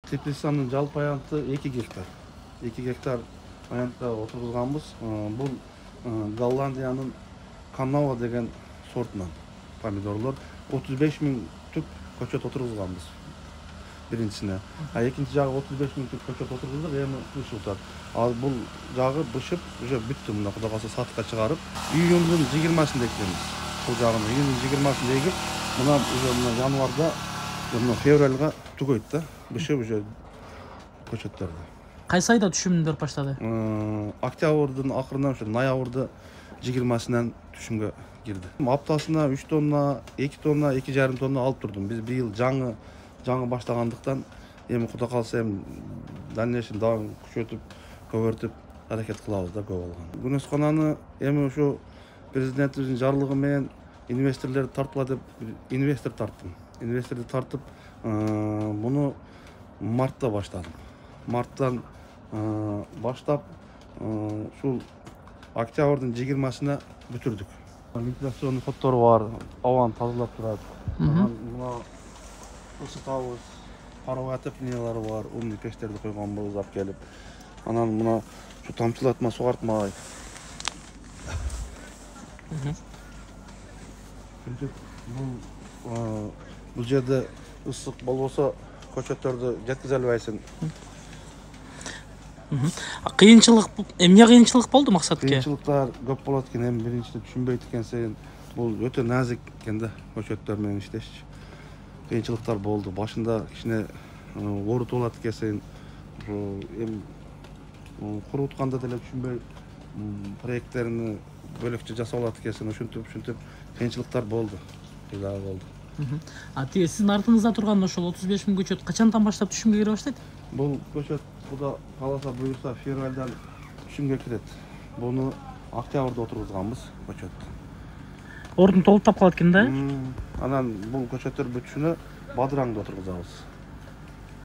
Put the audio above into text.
Теплицанын жалпы аянты 2 гектар. 2 гектар аянтта отургузганбыз. Бул Голландиянын Канава деген сортунан помидорлор 35 000 түп көчөт отургузганбыз биринчисине. Экинчи жагы 35 000 түп көчөт отургуздук, эми бышылтат. Ал бул жагы бышып, уже бүттү, мына Кудай калса сатыкка чыгарып, июндун 20-сында эккенбиз. Бул жагын июндун 20-сында эгип, мына уже мына январда, мына февралга түгөйт да, бышып уже көчөттөрдү. Кайсы айда түшүмдөр баштады? Октябрдын акырынан ушу ноябрда 20-сынан түшүмгө кирди. Аптасына 3 тонна, 2 тонна, 2,5 тонна алып турдум. Биз быйыл жаңы баштагандыктан, эми Кудай калса эми дальнейший дагы күчөтүп, көбөртүп аракет кылабыз да, көп алган. Күнөскананы эми ушу президентибиздин жарлыгы менен инвесторлорду тартпа деп инвестор тарттым. Инвесторду тартып, муну мартта баштадым. Марттан баштап, ушул октябрдын 20-сына бүтүрдүк. Вентиляционный хоттору бар, абаны тазалап турат. Мына ысытабыз, паровой отоплениялары бар, умный печтерди койгонбуз алып келип. Анан мына ушу тамчылатма, сугартмай. Бул жерде ысык болбосо көчөттөрдү жеткизе албайсың. Эмне кыйынчылык болду максатке? Кыйынчылыктар көп болот экен, эми биринчиден түшүнбөйт экенсин. Бул өтө назик экен да, көчөттөр менен иштешчи. Кыйынчылыктар болду. Башында кичине оорутуп алат экенсин. Эми курутканда деле түшүнбөй проекттерин бөлөкчө жасап алат экенсин. Ушинтип кыйынчылыктар болду. Дагы болду. Тиги сиздин артыңызда турган ошол 35 000 көчөт качандан баштап түшүмгө кире баштайт? Бул көчөт Кудай кааласа буюрса февралдан түшүмгө кирет. Буну октябрда отургузганбыз көчөт. Ордун толуп калат экен да? Анан бул көчөттөр бүтүшүнө бадыраңды отургузабыз.